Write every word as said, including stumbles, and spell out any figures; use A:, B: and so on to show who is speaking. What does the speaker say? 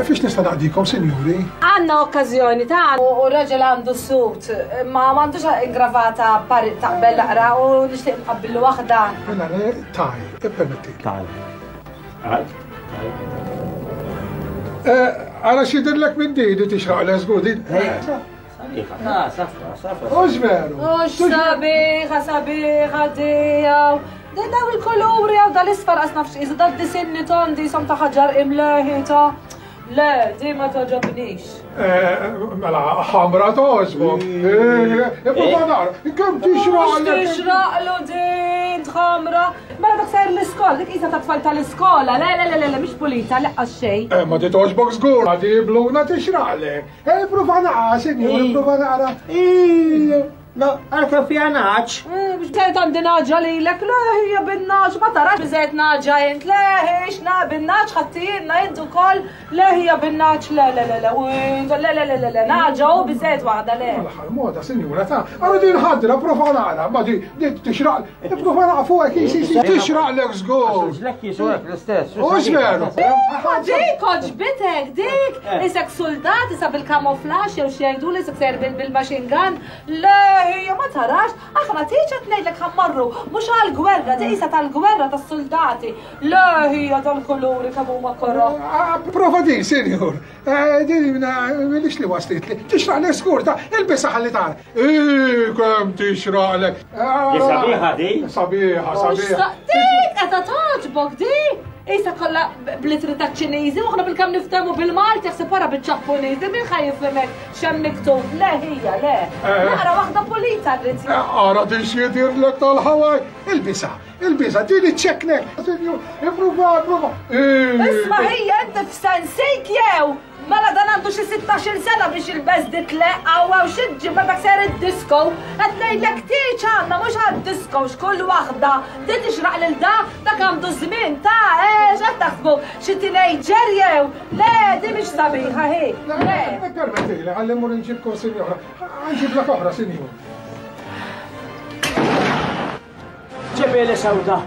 A: Fiex nista' naqdikom, sinjuri?
B: Għandna okkażjoni ta' u raġel għandu sut, ma m'għandux ingravata pari taqbel laqra u nixtieq nqabbillu waħda.
A: Mela le taj, ippermetti.
C: Taj. Għad?
A: Ara x'jidhirlek minn din li tixraq l żgur din.
C: Sabiħa, ta' safra, safra.
A: Hux veru.
B: Hux sabiħa, sabiħa tiegħu. Din daw il-kuluri għaw dal-isfar qas nafx iżda dal-disinni tondi som ta' ħaġar imleħi ta' le, di ma toġobnix.
A: Mela, ħamra toġbok. Ipprova nara, kemm tixraqlek.
B: Tixraqlu din ħamra. Mela dak sejr l-iskola, dik qisha ta' tfal tal-iskola. Le, le, le, le, mhix pulita, leqqa xejn.
A: Ma di toġbok żgur, ma di bluna tixraqlek. Ipprova nara, sinjur, ipprova nara.
C: No, għalka fija naċ.
B: Biex tgħid għandi naġa lilek, le hija bin-naġ, ma tarax biżejt naġa int, le hix na bin-naġ ħaddijinna int ukoll, le hija bin-naġ, le le le le, le le le le le, naġa u biżejt waħda le.
A: L-aħħar moda, sinjura ta' għara din ħadra, prova nara, ma di tixraq, prova nara fuqek, si si tixraqlek żgur.
C: Ġlek jisuek l-istess.
A: Hux veru.
B: Ma dik oġbitek, dik, isek soldat, isa bil-kamuflaġġ jew xi jgħidu li isek ser bil-machine gun, le hija ma tarax, aħna tiġi qed ngħidlek ħammarru, mhux għall-gwerra, di qisha tal-gwerra tas-soldati. Le hija tal-kuluri kemm huma koroh.
A: Prova din, sinjur. Din minix li waslitli. Tixraqlek żgur ta' ilbisha ħalli tara. Ih, kemm tixraqlek.
C: Sabiħa di.
A: Sabiħa, sabiħa.
B: Dik qed togħġbok di. Isa kollha blitri ta' Ċiniżi, u aħna bil-kemm niftehmu bil-Malti, jaħseb wara bil-Ġappuniżi, min ħa jifhemek x'hemm miktub? Le hija, le. Naqra waħda pulita rrid.
A: Ara din x'jidirlek tal-Hawaii. Ilbisha, ilbisha, din iċċeknek. Ippruva, ippruva.
B: Isma' hija inti f'sensik jew? Mela dan għandu xi sittax-il sena biex jilbes dit leqqa u għaw xi ġimgħa dak ser id-disco. Qed ngħidlek tieġ għandna mhux għad-disco x'kull waħda. Din tixraq lil da, dak għandu żmien ta' ex qed taħsbu xi teenager jew. Le, di mhix sabiħa hi. Le.
A: Permettili, ħalli mmur inġibkom sinjora. Ħanġiblek oħra, sinjur.
C: Ġibieli sewda.